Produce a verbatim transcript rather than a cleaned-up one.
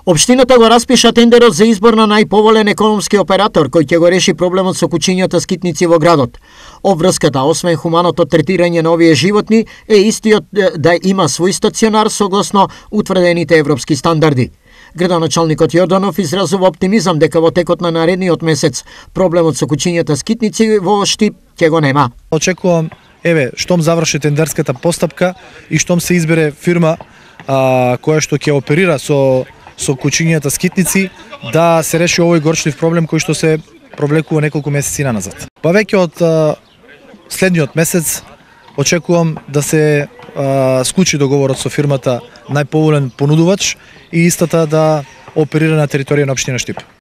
Општината го распиша тендерот за избор на најповолен економски оператор кој ќе го реши проблемот со кучињата скитници во градот. Обврската, освен хуманото третирање на овие животни, е истиот да има свој стационар согласно утврдените европски стандарди. Градоначалникот Јорданов изразува оптимизам дека во текот на наредниот месец проблемот со кучињата скитници во Штип ќе го нема. Очекувам, еве, штом заврши тендерската постапка и штом се избере фирма а, која што ќе оперира со со кучињата скитници, да се реши овој горчлив проблем кој што се провлекува неколку месеци назад. Па веќе од а, следниот месец очекувам да се а, склучи договорот со фирмата најповолен понудувач и истата да оперира на територија на општина Штип.